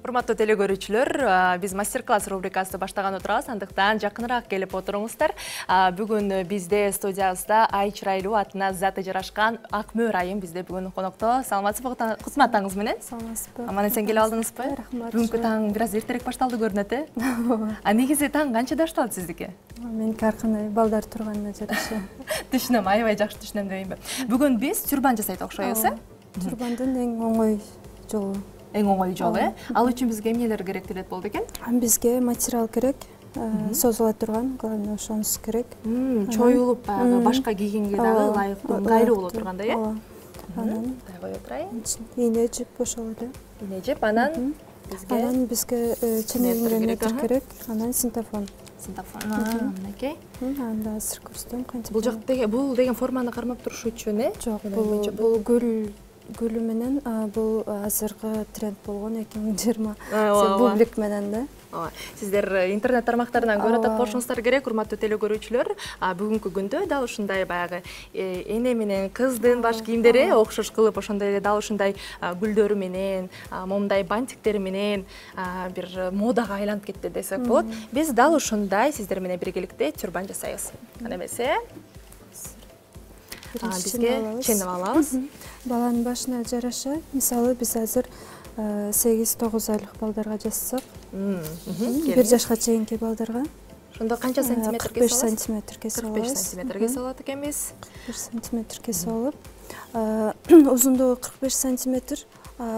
Урматтуу теле көрүүчүлөр, биз мастер-класс рубрикасы баштаган отурабыз, андыктан жакыныраак келип отуруңуздар. Бүгүн бизде студиябызда ай чырайлуу, атына заты жарашкан Акмөр айым бизде бүгүн конокто. Саламатсызбы? Кутман атаңыз менен. Саламатсызбы? Аман-эсен келип алдыңызбы? Рахмат. Бүгүнкү таң бир аз эртерээк башталды көрүнөт, негизи таң канчада башталат сиздики? Меники ар кандай балдар турганына жараша. Түшүнөм, аябай жакшы түшүнөм дейинби. Бүгүн биз тюрбан жасайт окшойбуз, Тюрбандын эң оңой жолу. Эң оңой жолу, Ал үчүн бизге эмнелер керектелет болду экен? Бизге материал керек, созула турган, главное ошонусу керек. Чоюлуп, башка кийгенге дагы ылайыктуу, ыңгайлуу боло тургандай, Анан кое турайын. ийне жип ошол эле. Ийне жип, анан бизге ченегиңге метр керек, анан синтофон. Синтофон, мынакей. Анда азыр көрсөтөм канча. Бул деген форманы кармап туруш үчүн, Жок, бул гүлү менен, бул азыркы тренд болгон 2020 бублик менен да. Сиздер интернет тармактарынан көрүп атат болушуңуздар керек, урматтуу теле көрүүчүлөр. Бүгүнкү күндө дал ушундай баягы эне менен кыздын баш кийимдери окшош кылып, ошондой эле дал ушундай гүлдөрү менен, момундай бантиктери менен бир модага айланып кетти десек болот. Биз дал ушундай сиздер менен биргеликте тюрбан жасайбыз. Кана эмесе? Бизге ченеп алабыз. Баланын башына жараша, мисалы биз азыр 8-9 айлык балдарга жасасак, 1 жашка чейинки балдарга ошондо канча сантиметр 45 сантиметр кесип алабыз. 45 сантиметр кесип алат экенбиз. 1 сантиметр кесип алып, узундугу 45 сантиметр,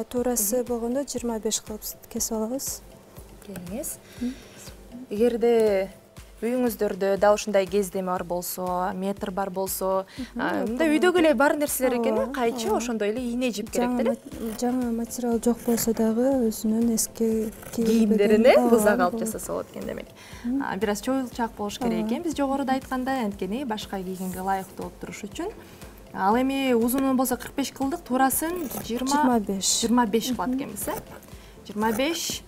туурасы болгондо 25 кылып кесип алабыз. Келиңиз. Эгерде үйүңүздөрдө дал ушундай кездеме бар болсо, метр бар болсо, мындай үйдөгү эле бар нерселер экен, кайчы, ошондой эле ийне жип керек деле. Жаңы материал жок болсо дагы өзүнүн эски кийимдерине бузак алып жасаса болот экен демек. Бир аз чоюлчаак болуш керек экен, биз жогоруда айткандай, анткени башка кийгенге ылайыктуу болуп туруш үчүн. Ал эми узунун болсо 45 кылдык, туурасын 25 кылат экенбиз, 25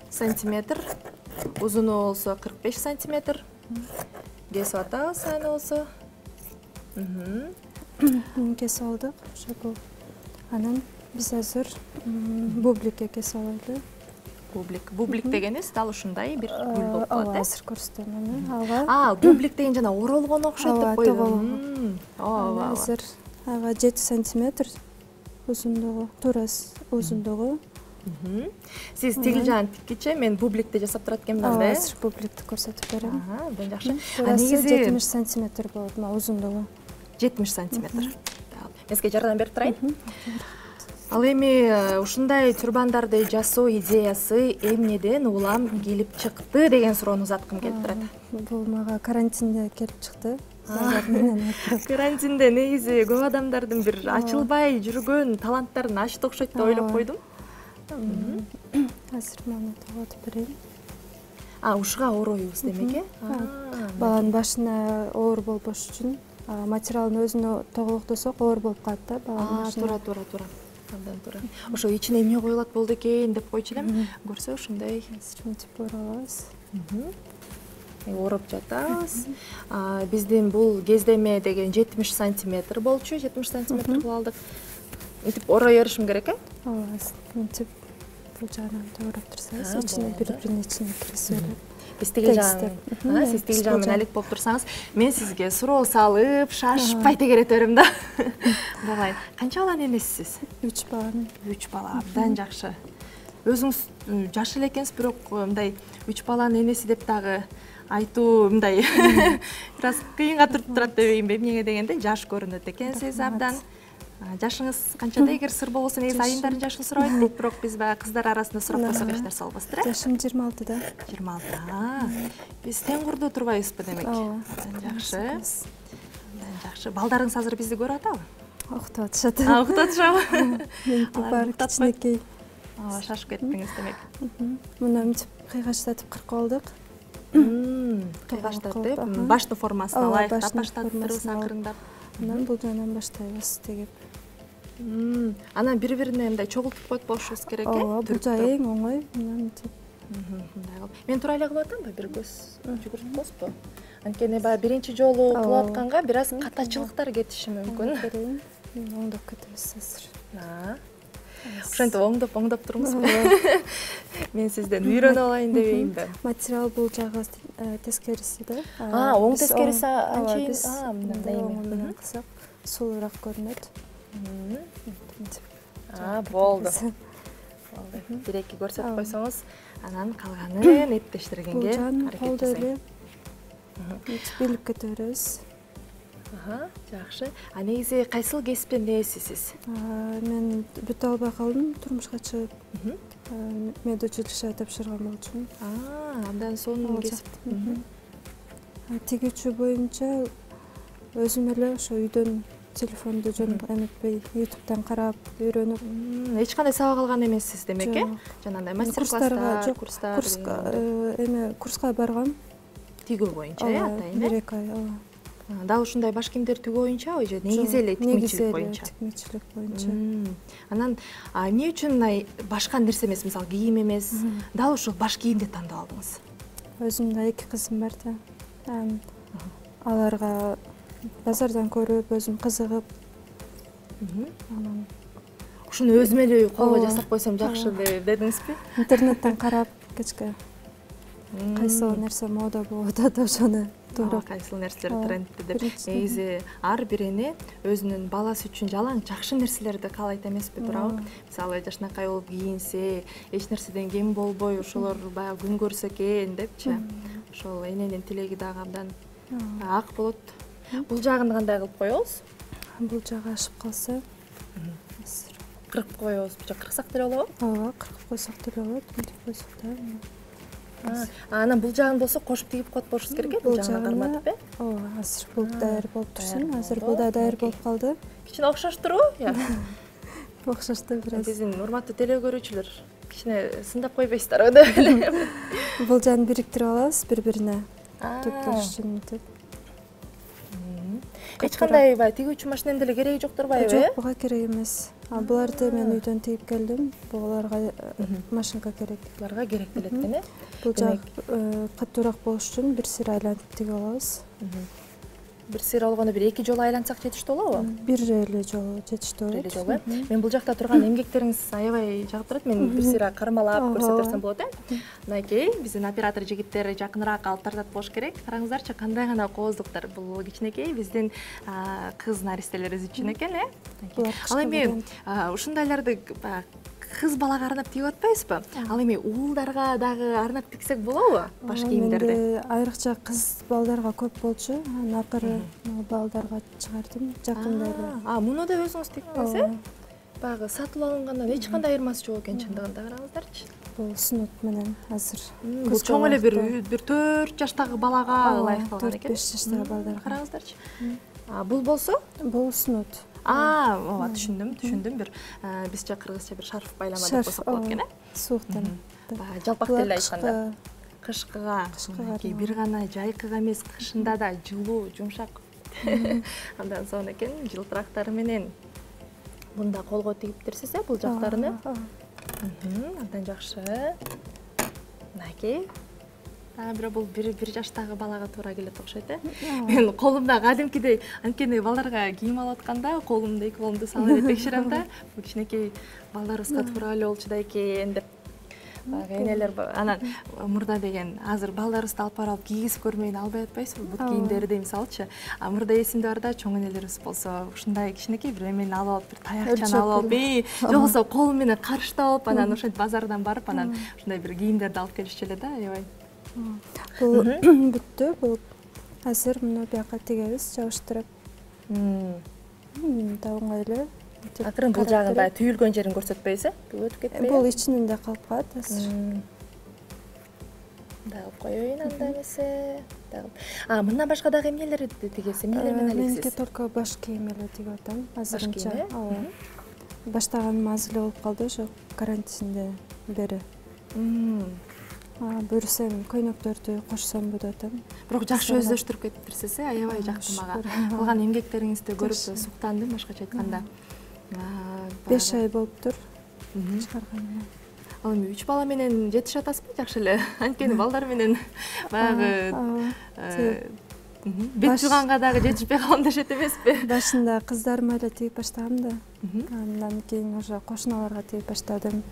сантиметр. Узуну болсо 45 сантиметр. Кесип атабыз аны болсо. Кесип алдык. Ошол. Анан биз азыр бубликке кесип алалы. Бублик дегенибиз дал ушундай бир гүл болуп калат, азыр көрсөтөм аны. Бублик деген жана оролгон окшойт деп койдум. Азыр ага 7 сантиметр узундугу, туурасы узундугу. Сиз тигил жагын тиккиче, мен бубликти жасап турат экенмин да. Азыр бубликти көрсөтүп берем. Абдан жакшы. Негизи 70 сантиметр болот, узундугу. 70 сантиметр. Мен сизге жардам берип турайын. Ал эми ушундай тюрбандарды жасоо идеясы эмнеден улам келип чыкты деген суроону узаткым келип турат. Бул мага карантинде келип чыкты. Карантинде негизи көп адамдардын бир ачылбай жүргөн таланттарын ачты окшойт деп ойлоп койдум. Азыр муну тоготуп берейин. Ушуга ороюбуз демек, Баланын башына оор болбош үчүн материалдын өзүнө тоголоктосок оор болуп калат да баланын башына. Туура. Абдан туура. Ошо ичине эмне коюлат болду экен деп койчу элем. Көрсө ушундай мынтип ора алабыз. Ороп жатабыз. Биздин бул кездеме деген 70 сантиметр болчу, 70 сантиметр кылып алдык. Мынтип орой беришим керек, Ооба, мынтип бул жагынан тууруп турсаңыз, ичине бири-биринин ичине киргизип берет. Биз тигил жагын, сиз тигил жагы менен алек болуп турсаңыз, мен сизге суроо салып, шашпай тегерете берем да. Давай, канча баланын энесисиз? 3 баланын. 3 бала, абдан жакшы. Өзүңүз жаш эле экенсиз, бирок мындай 3 баланын энеси деп дагы айтуу мындай бир аз кыйынга туруп турат дебейинби, эмнеге дегенде жаш көрүнөт экенсиз абдан. Жашыңыз канчада, эгер сыр болбосо, негизи айымдардын жашын сурабайт дейт, бирок биз баягы кыздар арасында сурап койсок эч нерсе болбостур, Жашым 26да. 26. Биз тең курдуу турбайбызбы демек? Абдан жакшы. Жакшы. Балдарыңыз азыр бизди көрүп атабы? Окутуп атышат. Окутуп атышабы? Меники бар кичинекей. Шашып кеттиңиз демек. Муну мынтип кыйгачлатып кыркып алдык. Кыйгачлатып, баштын формасына ылайыктап баштаттырбыз акырындап. Анан бул жагынан баштайбыз тегип. Анан бири-бирине мындай чогултуп коюп болушубуз керек, бул жагы эң оңой. Мынтип. Мен туура эле кылып атамбы? Бир көз жүгүртпөсүппү? Анткени баягы биринчи жолу кылып атканга бир аз катачылыктар кетиши мүмкүн. Оңдоп кетебиз азыр. Ошентип оңдоп туруңузбу. Мен сизден үйрөнүп алайын дебейинби? Материал бул жагы тескериси да. Оң тескериси анчейин мындай оң менен кылсак сулуураак көрүнөт. Болду. Бир-эки көрсөтүп койсоңуз, анан калганын эптештиргенге аракет жасайм. Билип кете беребиз. Жакшы. Негизи кайсыл кесиптен ээсисиз? Мен бүтө албай калдым турмушка чыгып. Медучилище тапшырган болчумун. Андан соң кесип. Тигүүчү боюнча өзүм эле ошо үйдөн телефонду эметпей YouTube'дан карап үйрөнүп. Эч кандай сабак алган эмессиз демек, э? Жанагындай мастер-класстар, курстар, курска баргам. Тигүү боюнча, атайын, э? 1-2 ай, Дал ушундай баш кийимдер тигүү боюнча же негизи эле тикмечилик боюнча? Тикмечилик боюнча. Анан эмне үчүн башка нерсе эмес, мисалы кийим эмес, дал ушул баш кийимди тандап алдыңыз? Өзүмдө 2 кызым бар да. Аларга базардан көрүп, өзүм кызыгып. Ушуну өзүм эле колго жасап койсом жакшы дедиңизби? Интернеттен карап кечке кайсыл нерсе мода болуп атат, ошону туурап. Кайсыл нерселер трендти деп. Негизи ар биrini өзүнүн баласы үчүн жалаң жакшы нерселерди каалайт эмеспи, туурабы? Мисалы жашынакай болуп кийинсе, эч нерседен кем болбой, ошолор баягы күн көрсө экен депчи. Ошол эненин тилеги дагы абдан ак болот. Бул жагын кандай кылып коебуз? Бул жагы ашып калса, кыркып коебузбу же кырксак деле болобу? Ооба, кыркып койсок деле болот, мынтип койсок да. Анан бул жагын болсо кошуп тигип коет болушубуз керек, бул жагына карматып, э? Ооба, азыр бул даяр болуп турсун. Азыр бул да даяр болуп калды. Кичине окшоштурбу? Окшошту бир аз. Биздин урматтуу теле көрүүчүлөр кичине сындап койбойсуздарбы деп элем. Бул жагын бириктирип алабыз бири-бирине. Төптөш үчүн мынтип. Эч кандай тигүүчү машиненин деле кереги жоктурбайбы? Жок, буга керек эмес. Буларды мен үйдөн тигип келдим. Буларга машинка керек. Буларга керек делет экен, э? Бул жак катуураак болуш үчүн бир сыйра айлантып тигип алабыз. Бир сыйра болгондо бир 2 жолу айлантсак жетиштүү болобу? Бир эле жолу жетиштүү болот. Бир эле жолу, э? Мен бул жакта турган эмгектериңиз аябай жагып турат. Мен бир сыйра кармалап көрсөтөрсөм болот, э? Мынакей биздин оператор жигиттер жакыныраак алып тартат болуш керек. Караңыздарчы, кандай гана кооздуктар. Бул кичинекей биздин кыз наристелерибиз үчүн экен, э? Ал эми ушундайларды кыз балага арнап тигип атпайбызбы? Ал эми уулдарга дагы арнап тиксек болобу баш кийимдерди? Менде айрыкча кыз балдарга көп болчу. Анан акыры балдарга чыгардым жакында эле. Муну да өзүңүз тигдиңиз, э? Баягы сатылып алынгандан эч кандай айырмасы жок экен чындыгында, караңыздарчы. Бул снуд менен азыр. Бул чоң эле бир 4 жаштагы балага ылайыкталган экен. 4-5 жаштагы балдарга. Караңыздарчы. Бул болсо? Бул снуд. Ооба, түшүндүм. Бир бизче кыргызча бир шарф байлама деп койсок болот экен, э? Сууктан. Жалпак тилде айтканда. Кышкыга, бир гана жайкыга эмес, кышында да жылуу, жумшак. Андан соң экен жылтырактары менен мында колго тигиптирсиз, э, бул жактарыны. Абдан жакшы. Мынакей. Бирок бул бир жаштагы балага туура келет окшойт, э? Мен колумда кадимкидей, анткени балдарга кийим алып атканда колумду 2 колумду салып эле текшерем да. Бул кичинекей балдарыбызга туура эле болчу да экен деп. Энелер анан мурда деген азыр балдарыбызды алып барып кийгизип көрмөйүн албай атпайсызбы? Бут кийимдерди мисалычы. Мурда эсимде бар да, чоң энелерибиз болсо ушундай кичинекей бир эмени алып алып, бир таякчаны алып алып, же болбосо колу менен карыштап, анан ошентип базардан барып, анан ушундай бир кийимдерди алып келишчү эле да, аябай. Бул бүттү. Бул азыр муну бияка тигебиз, жабыштырып. Да оңой эле. Акырын бул жагы баягы түйүлгөн жерин көрсөтпөйсүз, э? Бул өтүп кетпейби? Бул ичинде калып калат азыр. Дагы коеюн анда эмесе. Мындан башка дагы эмнелерди тигесиз? Эмнелер менен алексиз? Меники только баш кийим эле тигип атам азырынча. Ооба. Баштаганым аз эле болуп калды ошо карантинден бери. Буюрсам көйнөктөрдү кошсомбу деп атам. Бирок жакшы өздөштүрүп кетиптирсиз, э? Аябай жактым ага. Кылган эмгектериңизди көрүп суктандым, башкача айтканда. 5 ай болуптур чыгарганыма. Ал эми 3 бала менен жетише атасызбы? Жакшы эле. Анткени балдар менен баягы бет жууганга дагы жетишпей калам дешет эмеспи? Башында кыздарыма эле тигип баштагам да. Андан кийин уже кошуналарга тигип баштадым.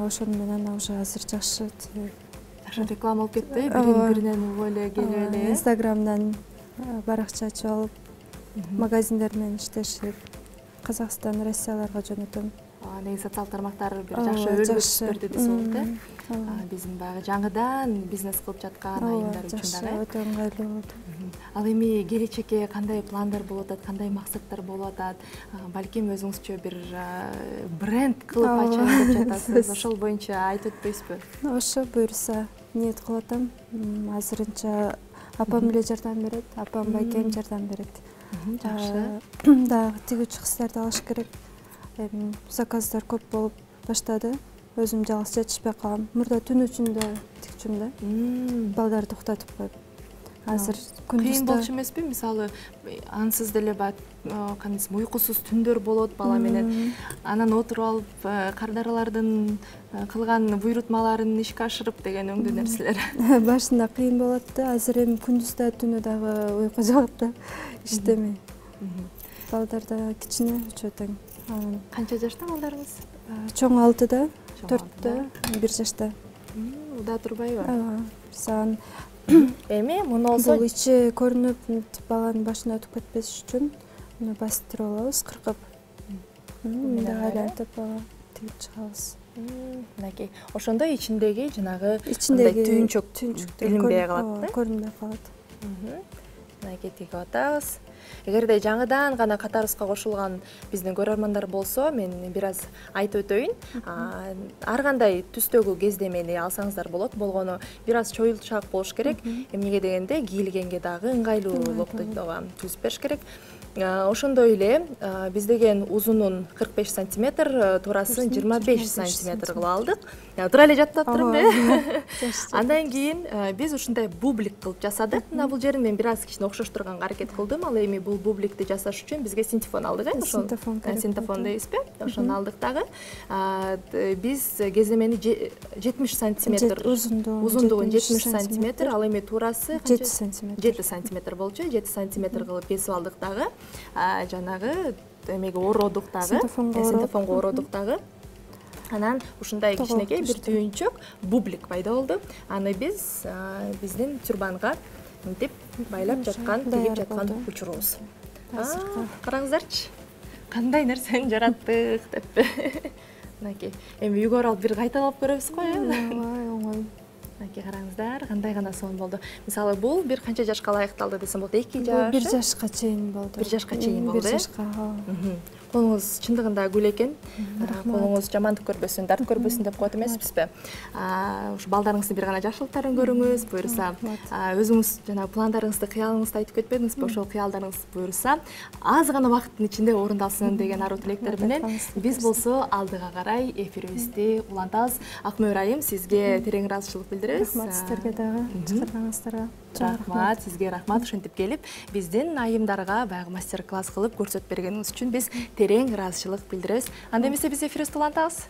Ошону менен уже азыр жакшы реклама болуп кетти, биринен угуп эле келип эле. Инстаграмдан баракча ачып алып, магазиндер менен иштешип, Казакстан, Россияларга жөнөтөм. Негизи социалдык тармактар бир жакшы өргүлөш берди десе болот, биздин баягы жаңыдан бизнес кылып жаткан айымдар үчүн дагы. Өтө ыңгайлуу болду. Ал эми келечекке кандай пландар болуп атат, кандай максаттар болуп атат? Балким өзүңүзчө бир бренд кылып ачайын деп жатасыз. Ошол боюнча айтып өтпөйсүзбү? Ошо буюрса ниет кылып атам. Азырынча апам эле жардам берет, апам байкем жардам берет. Жакшы. Дагы тигүүчү кыздарды алыш керек. Эми заказдар көп болуп баштады. Өзүм жалгыз жетишпей калам. Мурда түн ичинде тикчүм да. Балдарды уктатып коюп. Азыр күндүз кыйын болчу эмеспи? Мисалы, ансыз деле кандай десем, уйкусуз түндөр болот бала менен. Анан отуруп алып, кардаралардын кылган буйрутмаларын ишке ашырып деген өңдүү нерселер. Башында кыйын болот да, азыр эми күндүз да түнү дагы уйку жагат да, иштемей. Балдар да кичине, үчөө тең. Канча жашта балдарыңыз? Чоң 6-да, 4-тө, 1 жашта. Уда турбайбы? Сан Эми муну болсо бул ичи көрүнүп, баланын башына өтүп кетпеш үчүн муну бастырып алабыз, кыркып. Мындай айлантып тигип чыгабыз. Мынакей, ошондо ичиндеги жанагы түйүнчөк билинбей калат да? Көрүнбөй калат. Мынакей тигип атабыз. Эгерде жаңыдан гана катарыбызга кошулган биздин көрөрмандар болсо, мен бир аз айтып өтөйүн. Ар кандай түстөгү кездемени алсаңыздар болот. Болгону бир аз чоюлчаак болуш керек. Эмнеге дегенде кийилгенге дагы ыңгайлуулукту түзүп бериш керек. Ошондой эле биз деген узунун 45 сантиметр, туурасын 25 сантиметр кылып алдык. Туура эле жаттап турумбу? Андан кийин биз ушундай бублик кылып жасадык. Мына бул жерин мен бир аз кичине окшоштурганга аракет кылдым. Ал эми бул бубликти жасаш үчүн бизге синтефон алдык, синтефон дейбизби? Ошону алдык дагы. Биз кеземени 70 сантиметр, узундугун 70 сантиметр, ал эми туурасы 7 сантиметр. 7 сантиметр болчу, 7 сантиметр кылып кесип алдык дагы. Жанагы эмеге ородук дагы, синтефонго ородук дагы. Анан ушундай кичинекей бир түйүнчөк бублик пайда болду. Аны биз биздин тюрбанга мынтип байлап жаткан, тигип жаткан учурубуз. Караңыздарчы, кандай нерсени жараттык деп. Мынакей, эми үйгө барып бир кайталап көрөбүз го, оңой. Мынакей караңыздар, кандай гана сонун болду. Мисалы, бул бир канча жашка ылайыкталды десем болот? 2 жаш. 1 жашка чейин болду. 1 жашка чейин болду. 1 жашка. Колуңуз чындыгында гүл экен. Колуңуз жамандык көрбөсүн, дарт көрбөсүн деп коет эмеспизби? Ушу балдарыңыздын бир гана жакшылыктарын көрүңүз, буюрса, өзүңүз жана пландарыңызды, кыялыңызды айтып кетпедиңизби? Ошол кыялдарыңыз буюрса, аз гана убакыттын ичинде орундалсын деген аруу тилектер менен биз болсо алдыга карай эфирибизди улантабыз. Акмөөр айым, сизге терең ыраазычылык билдиребиз. Рахмат сиздерге дагы, чакырганыңыздарга. Рахмат, сизге рахмат. Ошентип келип, биздин айымдарга баягы мастер-класс кылып көрсөтүп бергениңиз үчүн биз терең ыраазычылык билдиребиз. Анда эмесе биз эфирибизди улантабыз.